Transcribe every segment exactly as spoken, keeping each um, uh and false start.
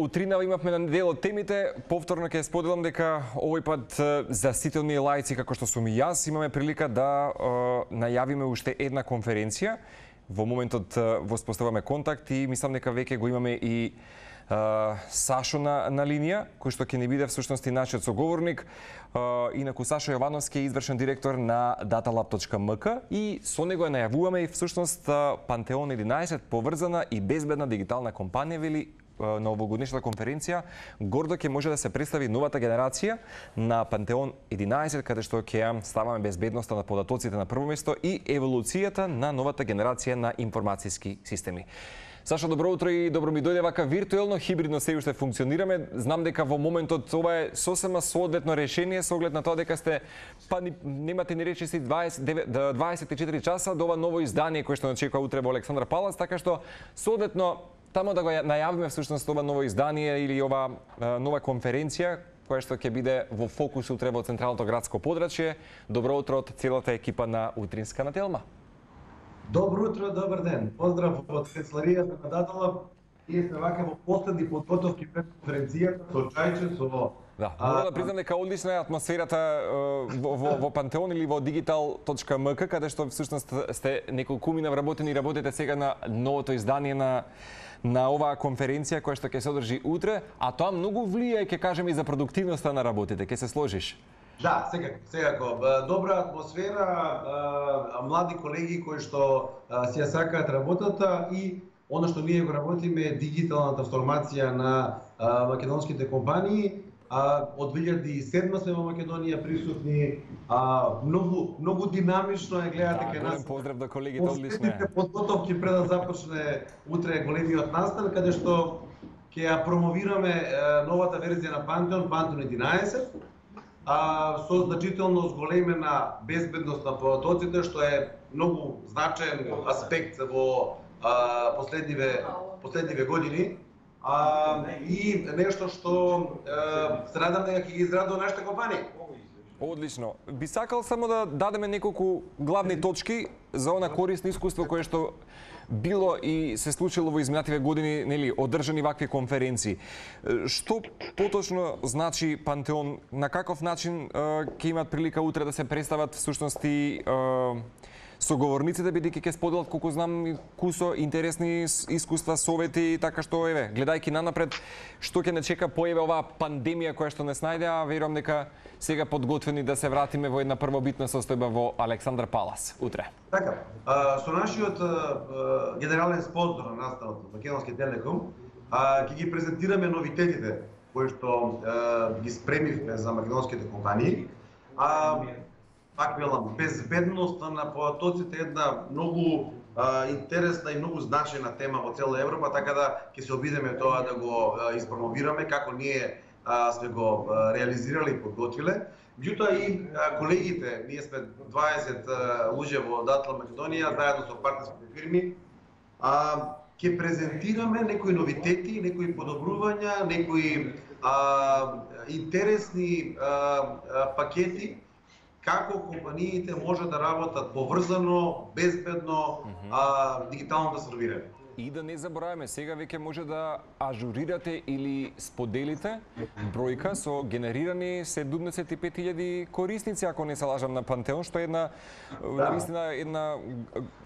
утрина имавме на дел од темите. Повторно ќе споделам дека овој пат за сите оние лаици како што сум и јас имаме прилика да е, најавиме уште една конференција. Во моментот воспоставаме контакт и мислам дека веќе го имаме и Uh, Сашо на, на линија, кој што ќе ни биде всушност и нашиот соговорник. Uh, инаку Сашо Јовановски е извршен директор на datalab точка ем ка и со него ја најавуваме и всушност Пантеон единаесет, поврзана и безбедна дигитална компанија, вели на овогодишната конференција. Гордо ќе може да се представи новата генерација на Пантеон единаесет, каде што ќе ставаме безбедноста на податоците на прво место и еволуцијата на новата генерација на информацијски системи. Сашо, добро утро и добро ми дојде вака виртуелно, хибридно се уште функционираме. Знам дека во моментот ова е сосема соодветно решение со оглед на тоа дека сте па ни, немате ни речиси дваесет и четири часа до ова ново издание кое што очекува утре во Александар Палас, така што соодветно тамо да го најавиме всушност ова ново издание или ова нова конференција која што ќе биде во фокус утре во централното градско подрачје. Добро утро од целата екипа на Утринска на Телма. Добро утро, добар ден. Поздрав од канцеларијата на Datalab. Ние сме вака во последни подготовки пред конференцијата со чајче, со... Да, мора да признам дека одлична е атмосферата во, во, во Пантеон или во digital точка ем ка, каде што всушност сте неколкумина вработени и работите сега на новото издание на на оваа конференција која што ќе се одржи утре, а тоа многу влијае, ќе кажеме, и за продуктивноста на работите. Ќе се сложиш? Да, секако, секако. Добра атмосфера, млади колеги кои што си ја сакаат работата и оно што ние го работиме е дигитална трансформација на македонските компании. Од две илјади и седма сме во Македонија присутни, многу многу динамично е, гледате кај нас. Поздрав до колегите, одлично е. Подготовки пред да започне утре големиот настан, каде што ќе ја промовираме новата верзија на Пантеон, Пантеон единаесет. А, со значително зголемена безбедност на податоците, што е многу значаен аспект во а, последниве, последниве години. А, и нешто што а, се надам дека ќе ги израдува нашите компании. Одлично. Би сакал само да дадеме неколку главни точки за она корисно искуство кое што било и се случило во изминативе години, нели, одржани вакви конференции. Што поточно значи Пантеон? На каков начин ќе имат прилика утре да се представат всушност и соговорниците, бидејќи ќе споделат, колку знам, кусо интересни искуства, совети, така што, еве, гледајќи нанапред, што ќе не чека поеве оваа пандемија која што не снајде, а верувам дека сега подготвени да се вратиме во една првобитна состојба во Александар Палас утре. Така, со нашиот генерален спонзор на настанот, Македонски Телеком, ќе ги презентираме новитетите кои што ги спремивме за македонските компании. Пак велам, безбедноста на податоците е една многу а, интересна и многу значајна тема во цела Европа, така да ќе се обидеме тоа да го а, испромовираме како ние а, сме го а, реализирали и подготвиле. Меѓутоа и а, колегите, ние сме дваесет а, луѓе во Datalab Македонија, заедно со партнерските фирми, а, ќе презентираме некои новитети, некои подобрувања, некои а, интересни а, а, пакети како компаниите може да работат поврзано, безбедно, mm-hmm. а, дигитално да сервираат. И да не забораваме, сега веќе може да ажурирате или споделите бројка со генерирани седумдесет и пет илјади корисници, ако не се лажам, на Пантеон, што е една, да. Наистина, една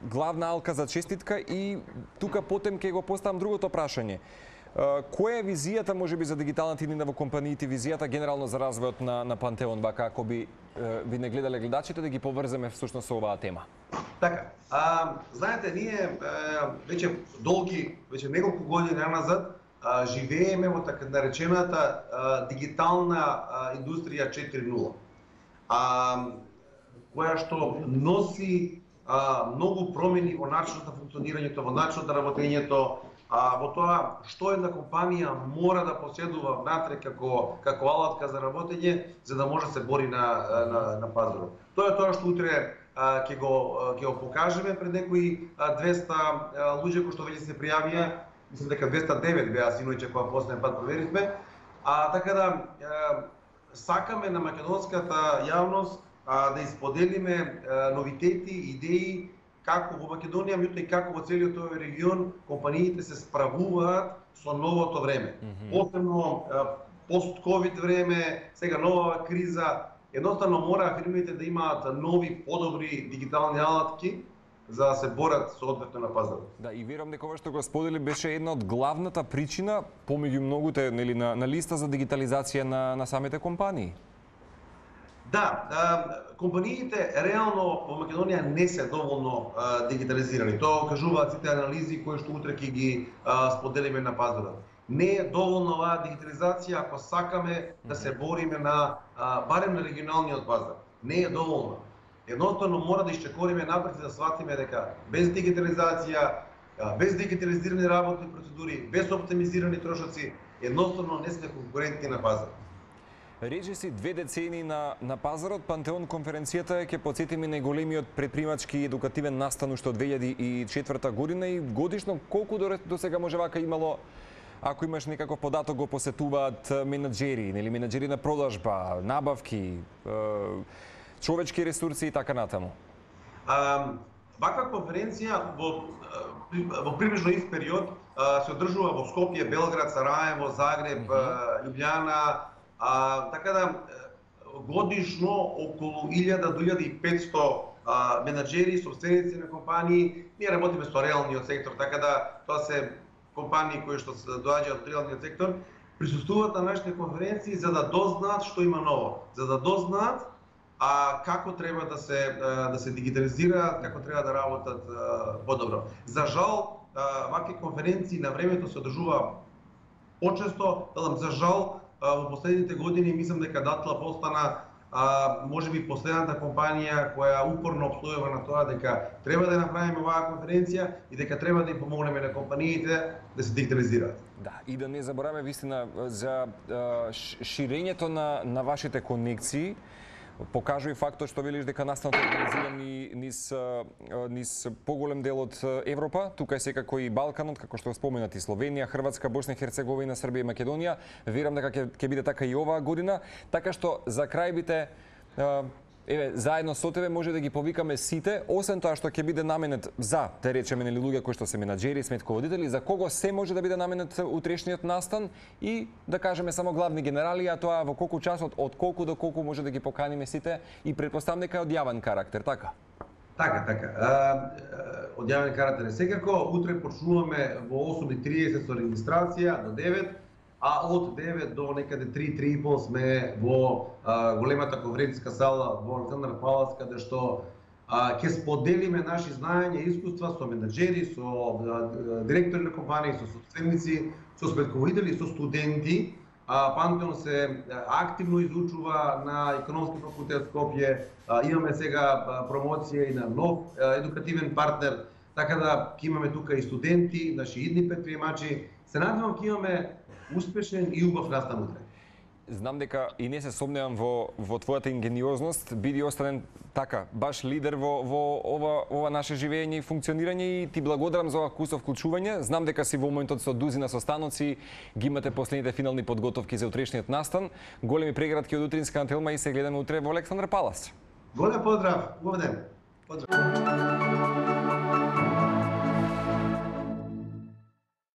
главна алка за честитка. И тука потем ќе го поставам другото прашање. Која е визијата, можеби, за дигиталната иднина во компаниите, визијата генерално за развојот на, на Пантеон, вака, ако би ви не гледале гледачите, да ги поврземе всушност со оваа тема? Така, а, знаете, ние а, веќе долги, веќе неколку години назад а, живееме во така наречената а, дигитална а, индустрија четири нула, а, која што носи а, многу промени во начинот на функционирањето, во начинот на работењето, а, во тоа што една компанија мора да поседува внатре како како алатка за работење, за да може да се бори на на, на пазарот. Тоа е тоа што утре ќе го ќе го покажеме пред некои двеста луѓе кои што веќе се пријавија, мислам дека двеста и девет беа синоќа кога последен пат проверивме. А така да сакаме на македонската јавност да исподелиме новитети, идеи како во Македонија, меѓутоа и како во целиот овој регион, компаниите се справуваат со новото време. Mm -hmm. Посебно пост-ковид време, сега нова криза, едноставно мора фирмите да имаат нови, подобри дигитални алатки за да се борат соодветно на пазарот. Да, и верувам дека ова што го сподели беше една од главната причина помеѓу многуте, нели, на, на листа за дигитализација на, на самите компании. Да, а, компаниите реално во Македонија не се доволно а, дигитализирани. Тоа кажуваат сите анализи кои што утре ќе ги а, споделиме на пазарот. Не е доволно оваа дигитализација ако сакаме да се бориме на а, барем на регионалниот пазар. Не е доволно. Едноставно мора да исчекориме напред и да сватиме дека без дигитализација, без дигитализирани работни процедури, без оптимизирани трошоци, едноставно не сме конкурентни на пазарот. Рече си две децени на, на пазарот, Пантеон конференцијата ќе потсетиме најголемиот предпримачки и едукативен настан уште од две илјади и четврта година и годишно колку до, до сега може вака имало, ако имаш некаков податок, го посетуваат менаџери, нели менаџери на продажба, набавки, е, човечки ресурси и така натаму? А, ваква конференција во, во приближно ист период а, се одржува во Скопје, Белград, Сараево, Загреб, mm-hmm. Љубљана. А, така да годишно околу илјада до илјада и петсто а, менаџери, собственици на компании, ние работиме со реалниот сектор, така да тоа се компании кои што се доаѓаат од реалниот сектор, присуствуваат на нашите конференции за да дознаат што има ново, за да дознаат а како треба да се да се дигитализираат, како треба да работат подобро. За жал, вакви конференции на времето се одржува почесто, за жал во последните години мислам дека Датла постана а, може би последната компанија која упорно обстојува на тоа дека треба да направиме оваа конференција и дека треба да им помогнеме на компаниите да се дигитализираат. Да, и да не забораваме вистина за а, ширењето на на вашите конекции. Покажува и фактот што велиш дека настанот е организиран и низ, низ поголем дел од Европа, тука е секако и Балканот, како што споменати Словенија, Хрватска, Босна и Херцеговина, Србија и Македонија. Верам дека ќе ќе биде така и оваа година, така што за крај бите еве заедно со тебе може да ги повикаме сите, освен тоа што ќе биде наменет за, да речеме, нели луѓе кои што се менаџери, сметководители, за кого се може да биде наменет утрешниот настан и да кажеме само главни генерали, а тоа во колку часот, од колку до колку може да ги поканиме сите и претпоставам дека е од јавен карактер, така? Така, така. А, од јавен карактер е секако. Утре почнуваме во осум и триесет со регистрација до девет, а од девет до некаде три, три и пол сме во а, големата конференцијска сала во Александар Палац, каде што а, ќе споделиме наши знаења и искуства со менаџери, со а, директори на компании, со собственици, со сметководители, со студенти. А, Пантеон се активно изучува на Економски факултет Скопје. А, имаме сега а, промоција и на нов а, едукативен партнер, така да ќе имаме тука и студенти, наши идни предприемачи. Се надевам ќе имаме успешен и убав настан утре. Знам дека и не се сомневам во во твојата ингениозност, биди останен така баш лидер во во ова ова наше живење и функционирање и ти благодарам за ова кусо вклучување. Знам дека си во моментот со дузина состаноци, ги имате последните финални подготовки за утрешниот настан. Големи прегратки од утринска антелма и се гледаме утре во Александар Палац. Голем поздрав, убав ден. Поздрав.